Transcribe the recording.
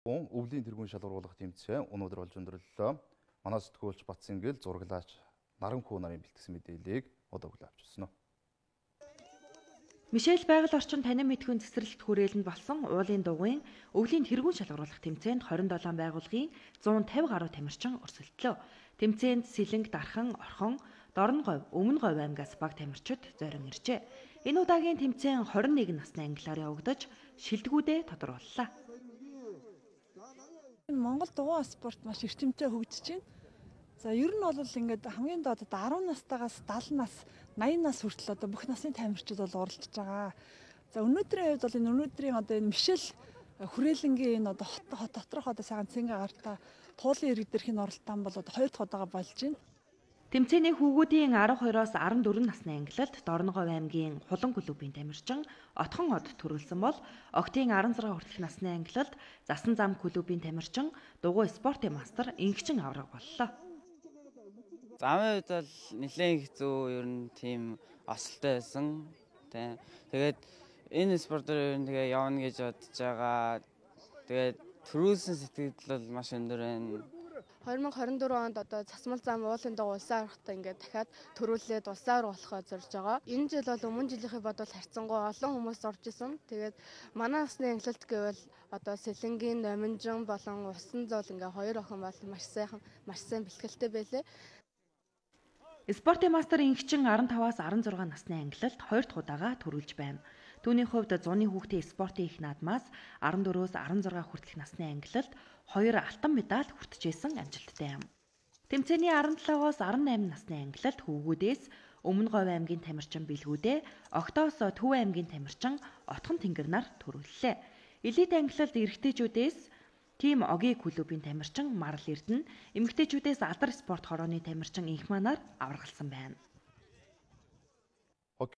Өвлийн тэргуун шалгаруулах тэмцээн өнөөдөр болж өндөрлөлөө. Манай сэтгүүлч Батсингэл зураглаач Наранхүү нарын бэлтгэсэн мэдээллийг одоо хүлээн авч ирсэн. Мишель байгаль орчин танин мэдхүйн цэцэрлэгт хүрээлэнд болсон уулын дугуйн өвлийн тэргуун шалгаруулах тэмцээнд 27 байгууллагын 150 гаруй тамирчин өрсөлдлөө. Тэмцээнд Сэлэнг, Дархан, Орхон, Дорноговь, Өмнө Говь аймгаас баг тамирчид зорин иржээ. Энэ удаагийн тэмцээн 21 насны ангилаар явагдаж шилдэгүүдээ тодорхойллоо. Монгол дугуй спорт маш эрчимтэй хөгжиж байна. За ер нь бол ингээд хамгийн доод 10 настайгаас 70 нас, 80 нас хүртэл одоо бүх насны тамирчид бол оролцож байгаа. За өнөөдрийн хувьд бол өнөөдрийн одоо энэ Мишель хүрээлэнгийн энэ одоо хот доторх одоо сайхан цэнгэ гартаа туулын иргэдэрхийн оролтон бол одоо 2 дахь удаага болж байна. Тэмцээний хүүгүүдийн 12-оос 14 насны ангилалд Дорноговь аймгийн Хулан клубын тамирчин Отхон од төрүүлсэн бол Октийн 16 хүртэлх насны ангилалд Засан зам клубын тамирчин Дугуй спортын мастер Ингчин авраг боллоо. Замын үед бол нэлээд хэцүү ер нь тийм осолтой байсан. Тэгээд энэ спортоор ер нь тэгээ явна гэж бодож байгаа. Тэгээд төрүүлсэн сэтгэл бол маш өндөр байна. 2024 онд одоо Цасмал зам уулын дугуй улсаар орохтой ингээд дахиад төрүүлээд улсаар болохоо зорж байгаа. Энэ жил бол өмнө жилийнхээ бодвол харьцангуй олон хүмүүс орж исэн. Тэгээд манай насны ангилалт гэвэл одоо Сэлэнгийн Номинжин болон Усан зол ингээ 2 охин бол маш сайн бэлтгэлтэй байлээ. Спортын мастер Ингчин 15-аас 16 насны ангилалд 2 дахь удаага төрүүлж байна. Түүний хувьд зуны хүүхдийн спортын их наадмаас 14-өөс 16 хүртэлх насны ангилалд 2 алтан медаль хүртжсэн амжилттай юм. Тэмцээний 17-оос 18 насны ангилалд хүүгүүдээс Өмнө Говь аймгийн тамирчин Бэлгүүдээ, Октоос Төв аймгийн тамирчин Отхон Тэнгэр нар төрүүллээ. Элит ангилалд эрэгтэйчүүдээс Тим Огийн клубын тамирчин Марл Эрдэнэ, эмэгтэйчүүдээс Алдар спорт хорооны тамирчин Инхманаар аваргалсан байна.